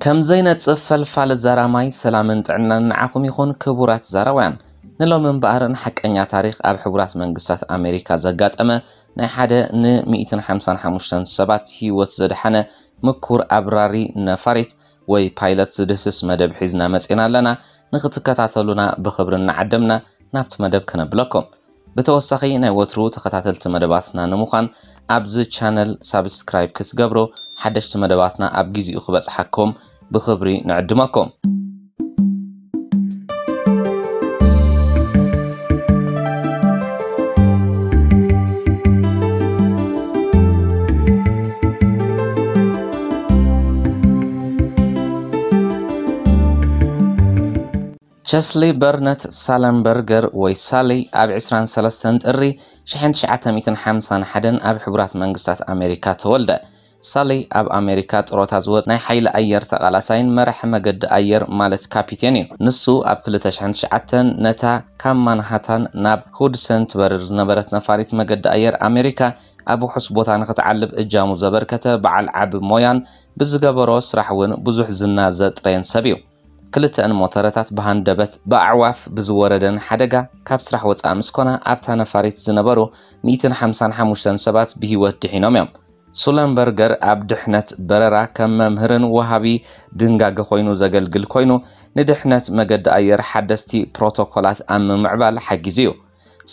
ከም ዘይነጽፍ ፈልፋሊ ዛራማይ ሰላምን ጥዕናን ንዓኹም ይኹን ክቡራት ዛራውያን። ንሎሚ እምበኣር ንሓቀኛ ታሪኽ ኣብ ሕቡራት መንግስታት ኣሜሪካ ዘጋጠመ ናይ ሓደ ን ሚእትን ሓምሳን ሓሙሽተን ሰባት ህይወት ዘድሓነ ምኩር ኣብራሪ ነፋሪት ወይ ፓይለት ዝድህስስ መደብ ሒዝና መጺና ኣለና። ንኽትከታተሉና ብኽብሪ እናዓደምና ናብቲ መደብ ከነብለኩም። ብተወሳኺ ናይ ወትሩ ተኸታተልቲ መደባትና ንምዃን ኣብዚ ቻነል ሳብስክራይብ ክትገብሩ ሓደሽቲ መደባትና ኣብ ግዚኡ ክበጽሓኩም ብኽብሪ ንዕድመኩም። ቸስሊ በርነት ሳለንበርገር ወይ ሳሊ ኣብ ዕስራን ሰለስተን ጥሪ ሽሕን ትሽዓተ ሚእትን ሓምሳን ሓደን ኣብ ሕቡራት መንግስታት ኣሜሪካ ተወልደ። ሳሊ ኣብ ኣሜሪካ ጥሮታ ዝወጽ ናይ ሓይሊ ኣየር ተቓላሳይን መራሒ መገዲ ኣየር ማለት ካፒቴን እዩ። ንሱ ኣብ ክልተ ሽሕን ትሽዓተን ነታ ካብ ማንሃታን ናብ ሁድሰን ትበርር ዝነበረት ነፋሪት መገዲ ኣየር ኣሜሪካ ኣብ ውሑስ ቦታ ንኽትዓልብ እጃሙ ዘበርከተ በዓል ዓቢ ሞያን ብዝገበሮ ስራሕ እውን ብዙሕ ዝና ዘጥረየን ሰብ እዩ። ክልተአን ሞተረታት ብሃንደበት ብኣዕዋፍ ብዝወረደን ሓደጋ ካብ ስራሕ ወጻኢ ምስ ኮና ኣብታ ነፋሪት ዝነበሩ ሚእትን ሓምሳን ሓሙሽተን ሰባት ብህይወት ድሒኖም እዮም። ሱለንበርገር ኣብ ድሕነት በረራ ከም መምህርን ወሃቢ ድንጋገ ኮይኑ ዘገልግል ኮይኑ ንድሕነት መገዲ ኣየር ሓደስቲ ፕሮቶኮላት ኣብ ምምዕባል ሓጊዙ እዩ።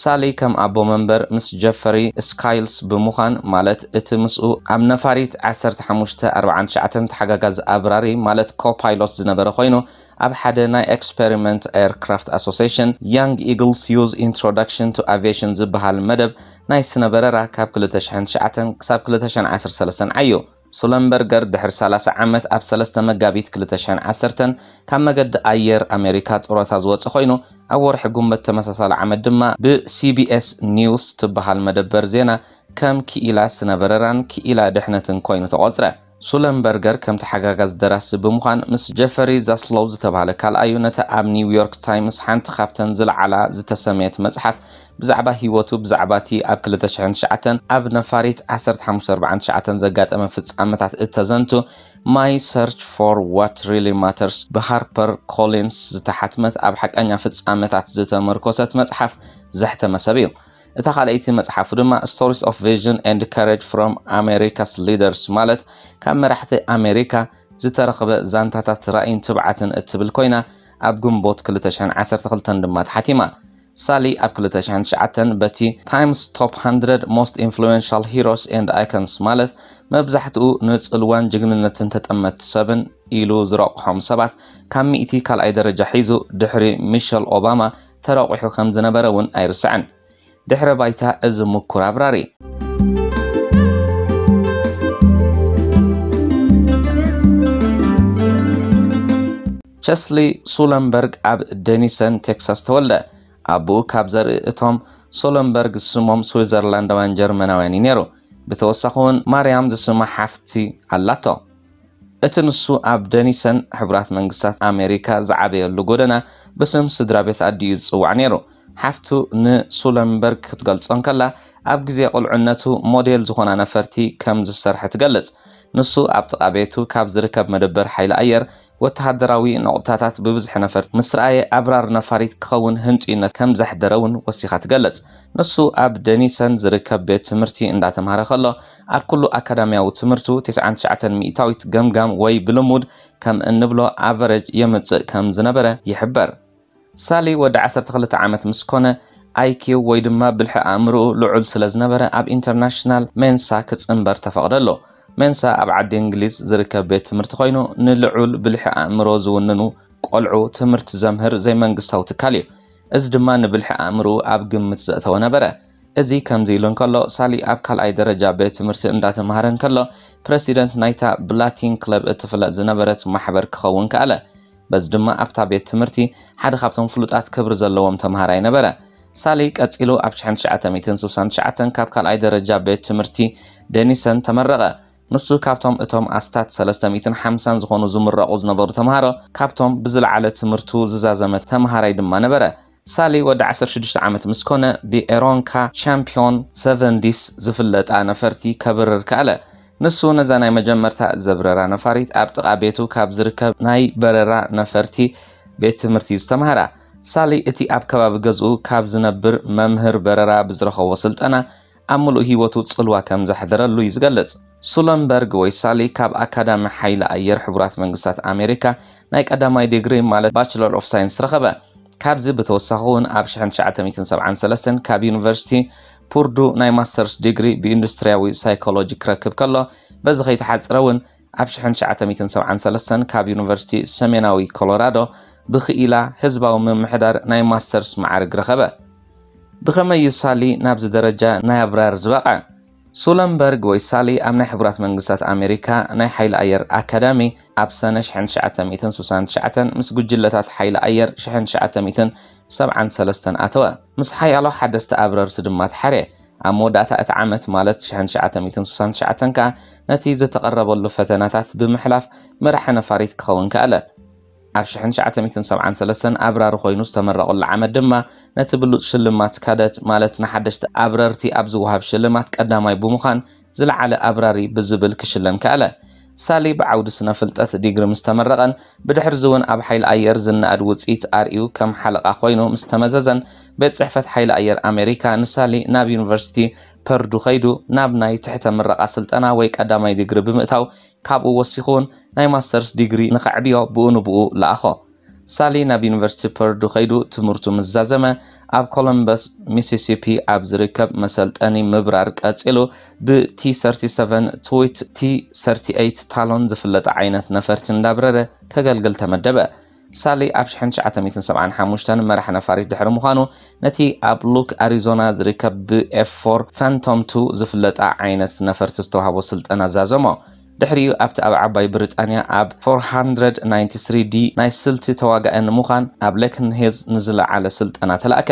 ሳሊ ከም ኣቦ መንበር ምስ ጀፈሪ ስካይልስ ብምዃን ማለት እቲ ምስኡ ኣብ ነፋሪት ዓሰርተ ሓሙሽተ ኣርባዓን ትሽዓተን ተሓጋጋዚ ኣብራሪ ማለት ኮፓይሎት ዝነበረ ኮይኑ ኣብ ሓደ ናይ ኤክስፐሪመንት ኤርክራፍት ኣሶሲሽን Young Eagles Use Introduction to Aviation ዝበሃል መደብ ናይ ስነ በረራ ካብ ክልተ ሽሕን ትሽዓተን ክሳብ ክልተ ሽሕን ዓሰርተ ሰለስተን ዓዩ። ሱለንበርገር ድሕሪ ሰላሳ ዓመት ኣብ ሰለስተ መጋቢት ክልተ ሽሕን ዓሰርተን ካብ መገዲ ኣየር ኣሜሪካ ጥሮታ ዝወፀ ኮይኑ ኣብ ወርሒ ጉንበት ተመሳሳሊ ዓመት ድማ ብሲቢኤስ ኒውስ ትበሃል መደበር ዜና ከም ክኢላ ስነ በረራን ክኢላ ድሕነትን ኮይኑ ተቖፅረ። ሱለንበርገር ከም ተሓጋጋዚ ደራሲ ብምዃን ምስ ጀፈሪ ዛስሎው ዝተባህለ ካልኣዩ ነታ ኣብ ኒውዮርክ ታይምስ ሓንቲ ካብተን ዝለዓላ ዝተሰመየት መጽሓፍ ብዛዕባ ህይወቱ ብዛዕባ እቲ ኣብ ክልተ ሽሕን ትሽዓተን ኣብ ነፋሪት ዓሰርተ ሓሙሽተ ኣርባዓን ትሽዓተን ዘጋጠመ ፍጻመታት እተዘንቱ My Search for What Really Matters ብሃርፐር ኮሊንስ ዝተሓትመት ኣብ ሓቀኛ ፍጻመታት ዝተመርኮሰት መጽሓፍ ዘሕተመ ሰብ እዩ። እታ ካልኣይቲ መጽሓፉ ድማ Stories of Vision and Courage from America's Leaders ማለት ካብ መራሕቲ ኣሜሪካ ዝተረኽበ ዛንታታት ራእይን ትብዓትን እትብል ኮይና ኣብ ግንቦት ክልተ ሽሕን ዓሰርተ ክልተን ድማ ተሓቲማ። ሳሊ ኣብ ክልተ ሽሕን ትሽዓተን በቲ Time's Top one hundred Most Influential Heroes and Icons ማለት መብዛሕትኡ ንጽልዋን ጅግንነትን ተጠመትቲ ሰብን ኢሉ ዝረቑሖም ሰባት ካብ ሚእቲ ካልኣይ ደረጃ ሒዙ ድሕሪ ሚሸል ኦባማ ተረቑሑ ከም ዝነበረ እውን ኣይርስዕን። ድሕረ ባይታ እዚ ምኩር ኣብራሪ። ቸስሊ ሱለንበርግ ኣብ ደኒሰን ቴክሳስ ተወልደ። ኣቦኡ ካብ ዘርኢ እቶም ሶለንበርግ ዝስሞም ስዊዘርላንዳውያን ጀርመናውያን እዩ ነይሩ። ብተወሳኺ እውን ማርያም ዝስማ ሓፍቲ ኣላቶ። እቲ ንሱ ኣብ ደኒሰን ሕቡራት መንግስታት ኣሜሪካ ዝዓበየሉ ጎደና ብስም ስድራ ቤት ኣዲኡ ዝጽዋዕ ነይሩ። ሓፍቱ ንሱለንበርግ ክትገልጾ እንከላ ኣብ ግዜ ቁልዕነቱ ሞዴል ዝኾና ነፈርቲ ከም ዝሰርሐ ትገልጽ። ንሱ ኣብ ጥቓ ቤቱ ካብ ዝርከብ መደበር ሓይሊ ኣየር ወተሃደራዊ ነቑጣታት ብብዝሒ ነፈርቲ ምስ ረኣየ ኣብራር ነፋሪት ክኸውን ህንጡይነት ከም ዘሕደረ እውን ወሲኻ ትገልጽ። ንሱ ኣብ ደኒሰን ዝርከብ ቤት ትምህርቲ እንዳተምሃረ ከሎ ኣብ ኩሉ ኣካዳሚያዊ ትምህርቱ ተስዓን ትሽዓተን ሚእታዊት ገምጋም ወይ ብልሙድ ከም እንብሎ ኣቨረጅ የምጽእ ከም ዝነበረ ይሕበር። ሳሊ ወዲ ዓሰርተ ክልተ ዓመት ምስ ኮነ ኣይኪው ወይ ድማ ብልሒ ኣእምሮኡ ልዑል ስለ ዝነበረ ኣብ ኢንተርናሽናል ሜንሳ ክጽንበር ተፈቕደሉ። ሜንሳ ኣብ ዓዲ እንግሊዝ ዝርከብ ቤት ትምህርቲ ኮይኑ ንልዑል ብልሒ ኣእምሮ ዝውንኑ ቆልዑ ትምህርቲ ዘምህር ዘይመንግስታዊ ትካል እዩ። እዚ ድማ ንብልሒ ኣእምሮኡ ኣብ ግምት ዘእተወ ነበረ። እዚ ከምዚ ኢሉ እንከሎ ሳሊ ኣብ ካልኣይ ደረጃ ቤት ትምህርቲ እንዳተምሃረ እንከሎ ፕረሲደንት ናይታ ብላቲን ክለብ እትፍለጥ ዝነበረት ማሕበር ክኸውን ከኣለ። በዚ ድማ ኣብታ ቤት ትምህርቲ ሓደ ካብቶም ፍሉጣት ክብሪ ዘለዎም ተምሃራይ ነበረ። ሳሊ ቀጺሉ ኣብ ሽሕን ትሽዓተ ሚእትን ስሳን ትሽዓተን ካብ ካልኣይ ደረጃ ቤት ትምህርቲ ደኒሰን ተመረቐ። ንሱ ካብቶም እቶም ኣስታት ሰለስተ ሚእትን ሓምሳን ዝኾኑ ዝምረቑ ዝነበሩ ተምሃሮ ካብቶም ብዝለዓለ ትምህርቱ ዝዛዘመ ተምሃራይ ድማ ነበረ። ሳሊ ወዲ ዓሰርተ ሽዱሽተ ዓመት ምስ ኮነ ብኤሮንካ ቻምፒዮን ሰቨንቲስ ዝፍለጣ ነፈርቲ ከብርር ከኣለ። ንሱ ነዛ ናይ መጀመርታ ዘብረራ ነፋሪት ኣብ ጥቓ ቤቱ ካብ ዝርከብ ናይ በረራ ነፈርቲ ቤት ትምህርቲ ዝተምሃራ። ሳሊ እቲ ኣብ ከባቢ ገዝኡ ካብ ዝነብር መምህር በረራ ብዝረኸቦ ስልጠና ኣብ ምሉእ ህይወቱ ጽልዋ ከም ዘሕደረሉ እዩ ዝገልጽ። ሱለንበርግ ወይ ሳሊ ካብ ኣካዳሚ ሓይሊ ኣየር ሕቡራት መንግስታት ኣሜሪካ ናይ ቀዳማይ ዲግሪ ማለት ባችለር ኦፍ ሳይንስ ረኸበ። ካብዚ ብተወሳኺ እውን ኣብ ሽሕን ትሽዓተ ሚእትን ሰብዓን ሰለስተን ካብ ዩኒቨርሲቲ ፑርዱ ናይ ማስተርስ ዲግሪ ብኢንዱስትሪያዊ ሳይኮሎጂ ክረክብ ከሎ፣ በዚ ከይተሓጽረ እውን ኣብ ሽሕን ትሽዓተ ሚእትን ሰብዓን ሰለስተን ካብ ዩኒቨርሲቲ ሰሜናዊ ኮሎራዶ ብክኢላ ህዝባዊ ምምሕዳር ናይ ማስተርስ መዓርግ ረኸበ። ብኸመይ እዩ ሳሊ ናብዚ ደረጃ ናይ ኣብራር ዝበቐ? ሱለንበርግ ወይ ሳሊ ኣብ ናይ ሕቡራት መንግስታት ኣሜሪካ ናይ ሓይሊ ኣየር ኣካዳሚ ኣብ ሰነ ሽሕን ትሽዓተ ሚእትን ስሳን ትሽዓተን ምስ ጉጅለታት ሓይሊ ኣየር ሽሕን ትሽዓተ ሚእትን ሰብዓን ሰለስተን ኣተወ። ምስ ሓያሎ ሓደስቲ ኣብረርቲ ድማ ተሓርየ። ኣብ መወዳእታ እቲ ዓመት ማለት ሽሕን ትሽዓተ ሚእትን ስሳን ትሽዓተን ከኣ ነቲ ዝተቐረበሉ ፈተናታት ብምሕላፍ መራሒ ነፋሪት ክኸውን ከኣለ። ኣብ ሽሕን ትሽዓተ ሚእትን ሰብዓን ሰለስተን ኣብራሪ ኮይኑ ዝተመረቐሉ ዓመት ድማ ነቲ ብሉጽ ሽልማት ካደት ማለት ንሓደሽቲ ኣብረርቲ ኣብ ዝወሃብ ሽልማት ቀዳማይ ብምዃን ዝለዓለ ኣብራሪ ብዝብል ክሽለም ከኣለ። ሳሊ ብዓውዲ ስነ ፍልጠት ዲግሪ ምስ ተመረቐን ብድሕርዚ እውን ኣብ ሓይሊ ኣየር ዝነኣድ ውጽኢት ኣርእዩ ከም ሓለቓ ኮይኑ ምስ ተመዘዘን ቤት ጽሕፈት ሓይሊ ኣየር ኣሜሪካ ንሳሊ ናብ ዩኒቨርሲቲ ፐርዱ ከይዱ ናብ ናይ ትሕተ ምረቓ ስልጠና ወይ ቀዳማይ ዲግሪ ብምእታው ካብኡ ወሲኹ እውን ናይ ማስተርስ ዲግሪ ንኸዕብዮ ብኡ ንብኡ ለኣኾ። ሳሊ ናብ ዩኒቨርሲቲ ፐርዱ ከይዱ ትምህርቱ ምስ ዛዘመ ኣብ ኮሎምበስ ሚሲሲፒ ኣብ ዝርከብ መሰልጠኒ ምብራር ቀጺሉ ብ ቲ ሰርቲ ሰቨን ትዊት ቲ ሰርቲ ኤይት ታሎን ዝፍለጥ ዓይነት ነፈርቲ እንዳብረረ ከገልግል ተመደበ። ሳሊ ኣብ ሽሕን ትሽዓተ ሚእትን ሰብዓን ሓሙሽተን መራሕ ነፋሪት ድሕሪ ምዃኑ ነቲ ኣብ ሉክ ኣሪዞና ዝርከብ ብ ኤፍ ፎር ፋንቶም ቱ ዝፍለጣ ዓይነት ነፈርቲ ዝተዋህቦ ስልጠና ዛዘሞ። ድሕሪኡ ኣብቲ ኣብ ዓባይ ብሪጣንያ ኣብ ፎር ሃንድረድ ናይንቲ ስሪ ዲ ናይ ስልቲ ተዋጋኢ ንምዃን ኣብ ሌክንሄዝ ንዝለዓለ ስልጠና ተላእከ።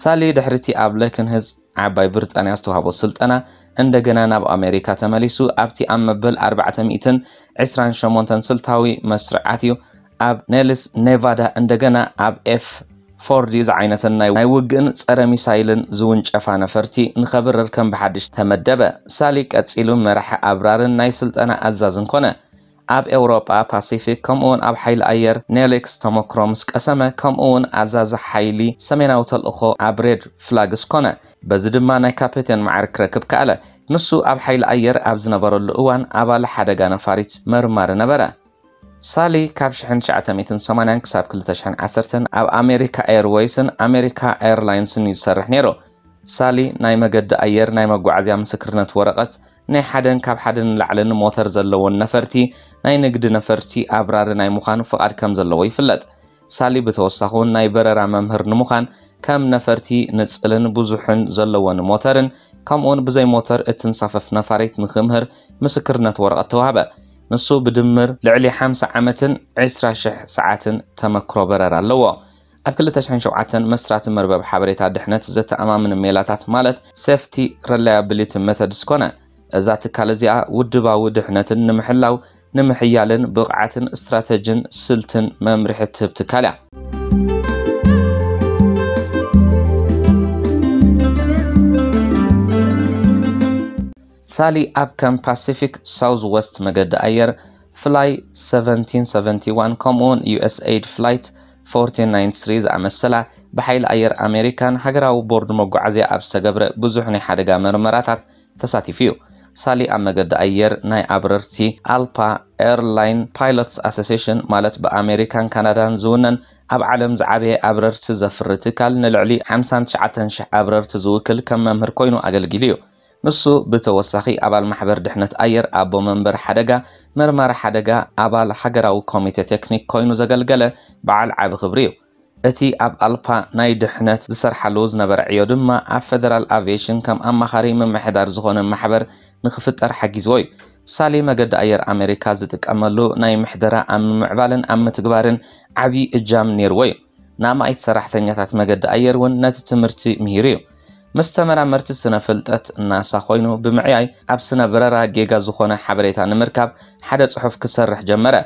ሳሊ ድሕሪቲ ኣብ ሌክንሄዝ ዓባይ ብሪጣንያ ዝተዋህቦ ስልጠና እንደገና ናብ ኣሜሪካ ተመሊሱ ኣብቲ ኣብ መበል ኣርባዕተ ሚእትን ዕስራን ሸሞንተን ስልታዊ መስርዓት እዩ ኣብ ኔልስ ኔቫዳ እንደገና ኣብ ኤፍ ፎር ዲ ዝዓይነተን ናይ ናይ ውግእን ጸረ ሚሳይልን ዝውንጨፋ ነፈርቲ ንኸብርር ከም ብሓድሽ ተመደበ። ሳሊ ቀጺሉ መራሒ ኣብራርን ናይ ስልጠና ኣዛዝን ኮነ። ኣብ ኤውሮጳ ፓሲፊክ ከምኡውን ኣብ ሓይሊ ኣየር ኔሊክስ ተመክሮ ምስ ቀሰመ ከምኡውን ኣዛዚ ሓይሊ ሰሜናዊ ተልእኾ ኣብ ሬድ ፍላግስ ኮነ። በዚ ድማ ናይ ካፔቴን መዓርግ ክረክብ ከኣለ። ንሱ ኣብ ሓይሊ ኣየር ኣብ ዝነበረሉ እዋን ኣባል ሓደጋ ነፋሪት መርማሪ ነበረ። ሳሊ ካብ ሽሕን ትሽዓተ ሚእትን ሰማንያን ክሳብ ክልተ ሽሕን ዓሰርተን ኣብ ኣሜሪካ ኤርወይስን ኣሜሪካ ኤርላይንስን እዩ ዝሰርሕ ነይሩ። ሳሊ ናይ መገዲ ኣየር ናይ መጓዓዝያ ምስክርነት ወረቐት ናይ ሓደን ካብ ሓደን ንላዕልን ሞተር ዘለዎን ነፈርቲ ናይ ንግዲ ነፈርቲ ኣብራሪ ናይ ምዃን ፍቓድ ከም ዘለዎ ይፍለጥ። ሳሊ ብተወሳኺ እውን ናይ በረራ መምህር ንምዃን ከም ነፈርቲ ንጽልን ብዙሕን ዘለዎን ሞተርን ከምኡውን ብዘይ ሞተር እትንሳፈፍ ነፋሪት ንክምህር ምስክርነት ወረቐት ተዋህበ። ንሱ ብድምር ልዕሊ ሓምሳ ዓመትን ዕስራ ሽሕ ሰዓትን ተመክሮ በረራ ኣለዎ። ኣብ ክልተ ሽሕን ሸውዓተን መስራቲ መርበብ ሓበሬታ ድሕነት ዘተኣማምን ሜላታት ማለት ሴፍቲ ረላያብሊቲ ሜተድስ ኮነ። እዛ ትካል እዚኣ ውድባዊ ድሕነትን ንምሕላው ንምሕያልን ብቕዓትን ስትራተጅን ስልትን መምርሒ ትህብ ትካል እያ። ሳሊ ኣብ ከም ፓሲፊክ ሳውዝ ወስት መገዲ ኣየር ፍላይ ሰቨንቲን ሰቨንቲ ዋን ከምኡውን ዩኤስኤይድ ፍላይት ፎርቲን ናይንቲ ስሪ ዝኣመሰላ ብሓይሊ ኣየር ኣሜሪካን ሃገራዊ ቦርድ መጓዓዝያ ኣብ ዝተገብረ ብዙሕ ናይ ሓደጋ መርመራታት ተሳቲፉ እዩ። ሳሊ ኣብ መገዲ ኣየር ናይ ኣብረርቲ ኣልፓ ኤርላይን ፓይሎትስ ኣሶሲሽን ማለት ብኣሜሪካን ካናዳን ዝውነን ኣብ ዓለም ዝዓበየ ኣብረርቲ ዘፍሪ ትካል ንልዕሊ ሓምሳን ትሽዓተን ሽሕ ኣብረርቲ ዝውክል ከም መምህር ኮይኑ ኣገልጊሉ እዩ። ንሱ ብተወሳኺ ኣባል ማሕበር ድሕነት ኣየር ኣቦ መንበር ሓደጋ መርማሪ ሓደጋ ኣባል ሃገራዊ ኮሚቴ ቴክኒክ ኮይኑ ዘገልገለ በዓል ዓቢ ክብሪ እዩ። እቲ ኣብ ኣልፓ ናይ ድሕነት ዝሰርሓሉ ዝነበረ ዕዮ ድማ ኣብ ፈደራል ኣቪዬሽን ከም ኣማኻሪ ምምሕዳር ዝኾነ ማሕበር ንክፍጠር ሓጊዝዎ እዩ። ሳሊ መገዲ ኣየር ኣሜሪካ ዝጥቀመሉ ናይ ምሕደራ ኣብ ምምዕባልን ኣብ ምትግባርን ዓብዪ እጃም ነይርዎ እዩ። ንኣማኢት ሰራሕተኛታት መገዲ ኣየር እውን ነቲ ትምህርቲ ምሂሩ እዩ። ምስ ተመራመርቲ ስነ ፍልጠት ናሳ ኮይኑ ብምዕያይ ኣብ ስነ በረራ ጌጋ ዝኾነ ሓበሬታ ንምርካብ ሓደ ጽሑፍ ክሰርሕ ጀመረ።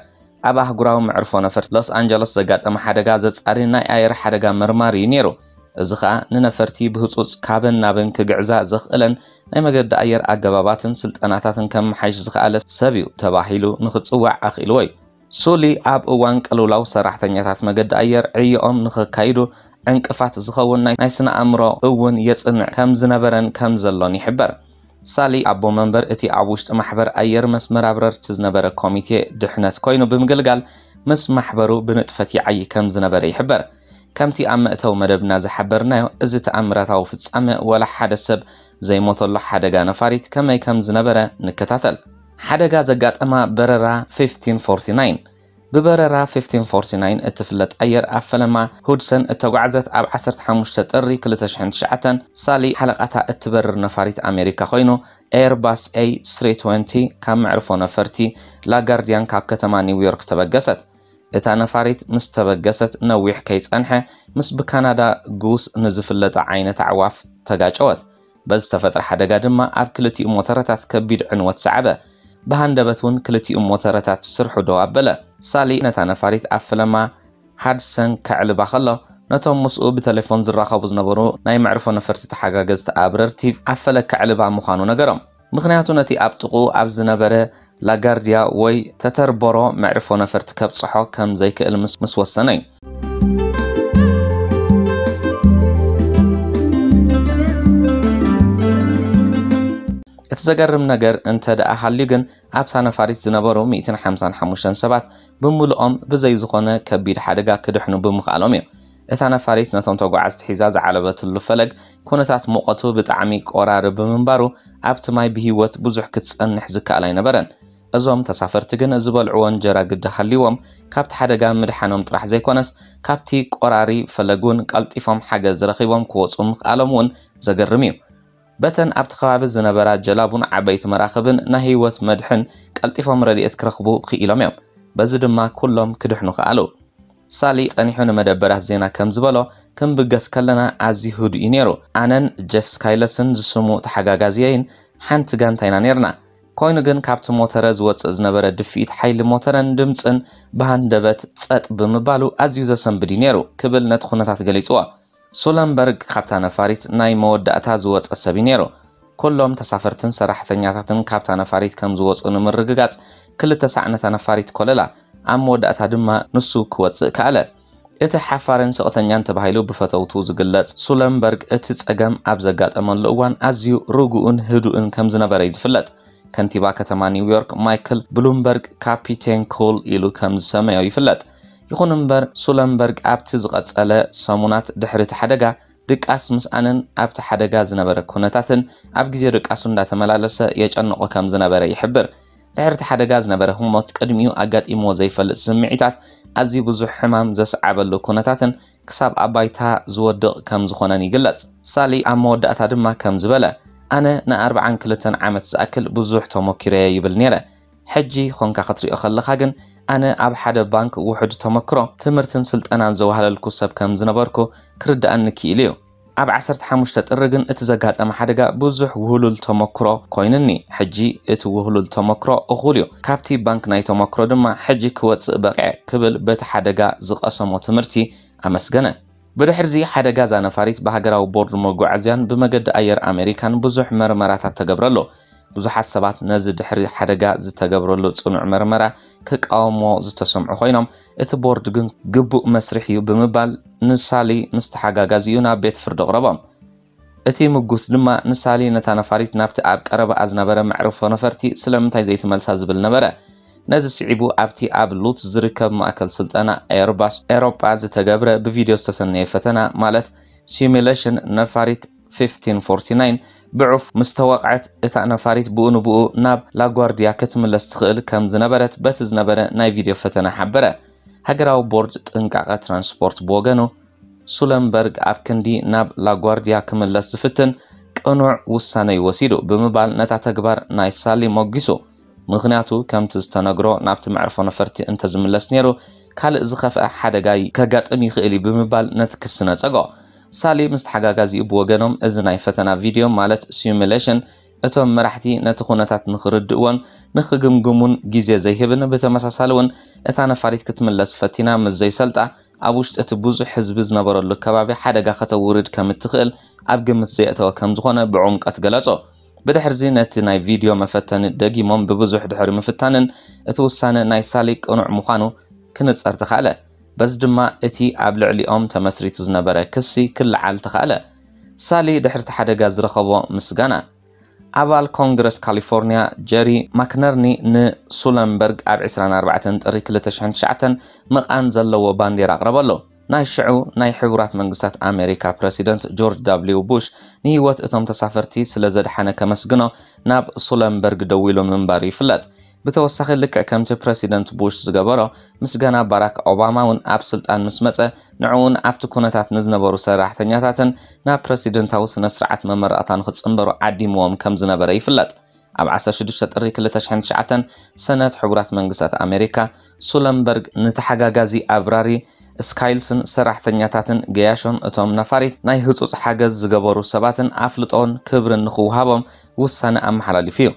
ኣብ ኣህጉራዊ መዕርፎ ነፈርቲ ሎስ ኣንጀለስ ዘጋጠመ ሓደጋ ዘጻሪ ናይ ኣየር ሓደጋ መርማሪ እዩ ነይሩ። እዚ ኸኣ ንነፈርቲ ብህጹጽ ካብን ናብን ክግዕዛ ዘኽእለን ናይ መገዲ ኣየር ኣገባባትን ስልጠናታትን ከመሓይሽ ዝኸኣለ ሰብ እዩ ተባሂሉ ንኽጽዋዕ ኣኽኢልዎ እዩ። ሱሊ ኣብ እዋን ቅልውላው ሰራሕተኛታት መገዲ ኣየር ዕዮኦም ንኸካይዱ ዕንቅፋት ዝኸውን ናይ ናይ ስነ ኣእምሮ እውን የጽንዕ ከም ዝነበረን ከም ዘሎን ይሕበር። ሳሊ ኣቦ መንበር እቲ ኣብ ውሽጢ ማሕበር ኣየር መስመር ኣብረርቲ ዝነበረ ኮሚቴ ድሕነት ኮይኑ ብምግልጋል ምስ ማሕበሩ ብንጥፈት ይዓዪ ከም ዝነበረ ይሕበር። ከምቲ ኣብ መእተዊ መደብና ዝሓበርናዮ፣ እዚ ተኣምራታዊ ፍጻመ ወላ ሓደ ሰብ ዘይሞተሉ ሓደጋ ነፋሪት ከመይ ከም ዝነበረ ንከታተል። ሓደጋ ዘጋጠማ በረራ ፊፍቲን ፎርቲ ናይን። ብበረራ ፊፍቲን ፎርቲ ናይን እትፍለጥ ኣየር ኣብ ፈለማ ሁድሰን እተጓዕዘት ኣብ ዓሰርተ ሓሙሽተ ጥሪ ክልተ ሽሕን ትሽዓተን ሳሊ ሓለቓታ እትበርር ነፋሪት ኣሜሪካ ኮይኑ ኤርባስ ኤ ስሪ ትወንቲ ካብ መዕርፎ ነፈርቲ ላጋርዲያን ካብ ከተማ ኒውዮርክ ተበገሰት። እታ ነፋሪት ምስ ተበገሰት ነዊሕ ከይጸንሐ ምስ ብካናዳ ጉስ ንዝፍለጣ ዓይነት ኣዕዋፍ ተጋጨወት። በዚ ዝተፈጥረ ሓደጋ ድማ ኣብ ክልቲኡ ሞተረታት ከቢድ ዕንወት ሰዓበ። ብሃንደበት እውን ክልቲኡ ሞተረታት ስርሑ ደው ኣበለ። ሳሊ ነታ ነፋሪት ኣብ ፈለማ ሃድሰን ከዕልባ ከሎ ነቶም ምስኡ ብቴሌፎን ዝራኸቡ ዝነበሩ ናይ መዕርፎ ነፈርቲ ተሓጋገዝቲ ኣብረርቲ ኣብ ፈለግ ከዕልባ ምዃኑ ነገሮም። ምኽንያቱ ነቲ ኣብ ጥቕኡ ኣብ ዝነበረ ላጋርዲያ ወይ ተተርበሮ መዕርፎ ነፈርቲ ከብጽሖ ከም ዘይክእል ምስ ምስ ወሰነ እዩ። እቲ ዘገርም ነገር እንተ ደኣ ሃልዩ ግን ኣብታ ነፋሪት ዝነበሩ ሚእትን ሓምሳን ሓሙሽተን ሰባት ብምሉኦም ብዘይ ዝኾነ ከቢድ ሓደጋ ክድሕኑ ብምኽኣሎም እዩ። እታ ነፋሪት ነቶም ተጓዓዝቲ ሒዛ ዝዓለበትሉ ፈለግ ኩነታት ሙቐቱ ብጣዕሚ ቆራሪ ብምንባሩ ኣብቲ ማይ ብህይወት ብዙሕ ክትጸንሕ ዝከኣል ኣይነበረን። እዞም ተሳፈርቲ ግን ዝበልዕዎ እንጀራ ግዲ ሃልይዎም ካብቲ ሓደጋ ምድሓኖም ጥራሕ ዘይኮነስ ካብቲ ቆራሪ ፈለግ እውን ቀልጢፎም ሓገዝ ረኺቦም ክወፁ ምኽኣሎም እውን ዘገርም እዩ። በተን ኣብቲ ከባቢ ዝነበራ ጀላቡን ዓበይቲ መራኽብን ናይ ህይወት መድሕን ቀልጢፎም ረድኤት ክረኽቡ ክኢሎም እዮም። በዚ ድማ ኩሎም ክድሕኑ ከኣሉ። ሳሊ ጸኒሑ ንመደበራት ዜና ከም ዝበሎ፣ ክንብገስ ከለና ኣዝዩ ህዱእ እዩ ነይሩ። ኣነን ጀፍ ስካይለስን ዝስሙ ተሓጋጋዝየይን ሓንቲ ጋንታ ኢና ነይርና። ኮይኑ ግን ካብቲ ሞተረ ዝወጽእ ዝነበረ ድፍኢት ሓይሊ ሞተረን ድምጽን ብሃንደበት ጸጥ ብምባሉ ኣዝዩ ዘሰንብድ እዩ ነይሩ ክብል ነቲ ኩነታት ገሊጽዎ። ሱለንበርግ ካብታ ነፋሪት ናይ መወዳእታ ዝወጸ ሰብ እዩ ነይሩ። ኩሎም ተሳፈርትን ሰራሕተኛታትን ካብታ ነፋሪት ከም ዝወጹ ንምርግጋጽ ክልተ ሳዕ ነታ ነፋሪት ኮለላ። ኣብ መወዳእታ ድማ ንሱ ክወጽእ ከኣለ። እቲ ሓፋርን ስቕተኛን ተባሂሉ ብፈተውቱ ዝግለጽ ሱለንበርግ እቲ ጸገም ኣብ ዘጋጠመሉ እዋን ኣዝዩ ርጉእን ህዱእን ከም ዝነበረ እዩ ዝፍለጥ። ከንቲባ ከተማ ኒውዮርክ ማይክል ብሉምበርግ ካፒቴን ኩል ኢሉ ከም ዝሰመዮ ይፍለጥ። ይኹን እምበር ሱለንበርግ ኣብቲ ዝቐጸለ ሰሙናት ድሕሪ እቲ ሓደጋ ድቃስ ምስኣንን ኣብቲ ሓደጋ ዝነበረ ኩነታትን ኣብ ግዜ ድቃሱ እንዳተመላለሰ የጨንቖ ከም ዝነበረ ይሕብር። ድሕሪ እቲ ሓደጋ ዝነበረ ህሞት ቅድሚኡ ኣጋጢምዎ ዘይፈልጥ ስምዒታት ኣዝዩ ብዙሕ ሕማም ዘስዓበሉ ኩነታትን ክሳብ ኣብ ባይታ ዝወድቕ ከም ዝኾነን ይግለጽ። ሳሊ ኣብ መወዳእታ ድማ ከም ዝበለ፣ ኣነ ንኣርብዓን ክልተን ዓመት ዝኣክል ብዙሕ ተሞኪረየ ይብል ነይረ። ሕጂ ኾንካ ክትሪኦ ከለኻ ግን ኣነ ኣብ ሓደ ባንክ ውሑድ ተመክሮ፣ ትምህርትን ስልጠናን ዘዋህለልኩ ሰብ ከም ዝነበርኩ ክርድኣኒ ክኢሉ እዩ። ኣብ ዓሰርተ ሓሙሽተ ጥሪ ግን እቲ ዘጋጠመ ሓደጋ ብዙሕ ውህሉል ተመክሮ ኮይኑኒ። ሕጂ እቲ ውህሉል ተመክሮ እኹል እዩ። ካብቲ ባንክ ናይ ተመክሮ ድማ ሕጂ ክወጽእ በቕዐ ክብል በቲ ሓደጋ ዝቐሰሞ ትምህርቲ ኣመስገነ። ብድሕርዚ ሓደጋ እዛ ነፋሪት ብሃገራዊ ቦርድ መጓዓዝያን ብመገዲ ኣየር ኣሜሪካን ብዙሕ መርመራታት ተገብረሉ። ብዙሓት ሰባት ነዚ ድሕሪ ሓደጋ ዝተገብረሉ ጽኑዕ መርመራ ክቃወምዎ ዝተሰምዑ ኮይኖም፣ እቲ ቦርድ ግን ግቡእ መስርሕ እዩ ብምባል ንሳሊ ምስ ተሓጋጋዚኡ ናብ ቤት ፍርዲ ኣቕረቦም። እቲ ምጉት ድማ ንሳሊ ነታ ነፋሪት ናብቲ ኣብ ቀረባኣ ዝነበረ መዕርፎ ነፈርቲ ስለምንታይ ዘይትመልሳ ዝብል ነበረ። ነዚ ስዒቡ ኣብቲ ኣብ ሉትስ ዝርከብ ማእከል ስልጠና ኤርባስ ኤሮጳ ዝተገብረ ብቪድዮ ዝተሰነየ ፈተና ማለት ሲሙሌሽን ነፋሪት ፊፍቲን ፎርቲ ናይን ብዑፍ ምስ ተወቕዐት እታ ነፋሪት ብኡ ንብኡ ናብ ላጓርድያ ክትምለስ ትኽእል ከም ዝነበረት በቲ ዝነበረ ናይ ቪድዮ ፈተና ሓበረ። ሃገራዊ ቦርድ ጥንቃቐ ትራንስፖርት ብወገኑ ሱለንበርግ ኣብ ክንዲ ናብ ላጓርድያ ክምለስ ዝፍትን ቅኑዕ ውሳነ እዩ ወሲዱ ብምባል ነታ ተግባር ናይ ሳሊ ሞጒሱ። ምኽንያቱ ከምቲ ዝተነግሮ ናብቲ መዕርፎ ነፈርቲ እንተዝምለስ ነይሩ ካልእ ዝኸፍአ ሓደጋ ከጋጥም ይኽእል እዩ ብምባል ነቲ ክሲ ነጸጎ። ሳሊ ምስ ተሓጋጋዚኡ ብወገኖም እዚ ናይ ፈተና ቪድዮ ማለት ሲሙሌሽን እቶም መራሕቲ ነቲ ኩነታት ንኽርድእዎን ንኽግምግሙን ግዜ ዘይህብን ብተመሳሳሊ እውን እታ ነፋሪት ክትምለስ ፈቲና ምስ ዘይሰልጣ ኣብ ውሽጢ እቲ ብዙሕ ህዝቢ ዝነበረሉ ከባቢ ሓደጋ ከተውርድ ከም እትኽእል ኣብ ግምት ዘየእተወ ከም ዝኾነ ብዕምቀት ገለጾ። ብድሕርዚ ነቲ ናይ ቪድዮ መፈተኒ ደጊሞም ብብዙሕ ድሕሪ ምፍታንን እቲ ውሳነ ናይ ሳሊ ቅኑዕ ምዃኑ ክንጸር ተኻእለ። በዚ ድማ እቲ ኣብ ልዕሊኦም ተመስሪቱ ዝነበረ ክሲ ክለዓል ተኻእለ። ሳሊ ድሕርቲ ሓደጋ ዝረኸቦ ምስጋና። ኣባል ኮንግረስ ካሊፎርኒያ ጀሪ ማክነርኒ ንሱለንበርግ ኣብ ዕስራን ኣርባዕተን ጥሪ ክልተ ሽሕን ትሽዓተን ምቓን ዘለዎ ባንዴራ ኣቕረበሉ። ናይ ሽዑ ናይ ሕቡራት መንግስታት ኣሜሪካ ፕረሲደንት ጆርጅ ዳብሊው ቡሽ ንህይወት እቶም ተሳፈርቲ ስለ ዘድሓነ ከመስግኖ ናብ ሱለንበርግ ደዊሉ ምንባሩ ይፍለጥ። ብተወሳኺ ልክዕ ከምቲ ፕረሲደንት ቡሽ ዝገበሮ ምስጋና ባራክ ኦባማ እውን ኣብ ስልጣን ምስ መጸ ንዕኡን ኣብቲ ኩነታት ንዝነበሩ ሰራሕተኛታትን ናብ ፕረሲደንታዊ ስነ ስርዓት መመረቕታ ንክጽንበሩ ዓዲምዎም ከም ዝነበረ ይፍለጥ። ኣብ ዓሰርተ ሽዱሽተ ጥሪ ክልተ ሽሕን ትሽዓተን ሰነት ሕቡራት መንግስታት ኣሜሪካ ሱለንበርግ ንተሓጋጋዚ ኣብራሪ ስካይልስን ሰራሕተኛታትን ገያሾን እቶም ነፋሪት ናይ ህጹጽ ሓገዝ ዝገበሩ ሰባትን ኣፍልጦን ክብርን ንክውሃቦም ውሳነ ኣመሓላሊፉ እዩ።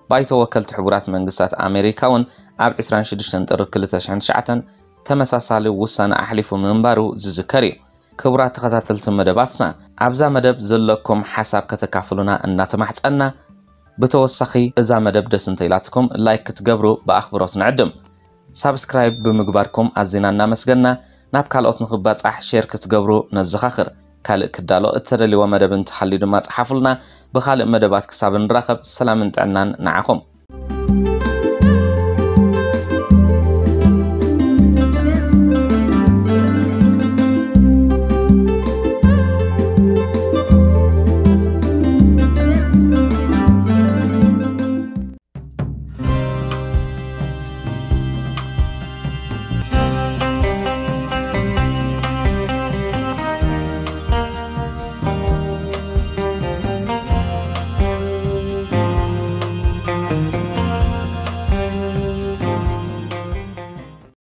ባይቶ ወከልቲ ሕቡራት መንግስታት ኣሜሪካ እውን ኣብ ዕስራን ሽዱሽተን ጥሪ ክልተ ሽሕን ትሽዓተን ተመሳሳሊ ውሳነ ኣሕሊፉ ምንባሩ ዝዝከር እዩ። ክቡራት ተኸታተልቲ መደባትና፣ ኣብዛ መደብ ዘለኩም ሓሳብ ከተካፍሉና እናተማሕጸና፣ ብተወሳኺ እዛ መደብ ደስ እንተኢላትኩም ላይክ ክትገብሩ ብኣኽብሮት ንዕድም። ሳብስክራይብ ብምግባርኩም ኣዚና እናመስገና፣ ናብ ካልኦት ንኽባጻሕ ሼር ክትገብሩ ነዘኻኽር። ካልእ ክዳሎ እተደልይዎ መደብ እንተሃልዩ ድማ ጸሓፉልና። ብኻልእ መደባት ክሳብ ንራኸብ ሰላምን ጥዕናን ንዓኹም።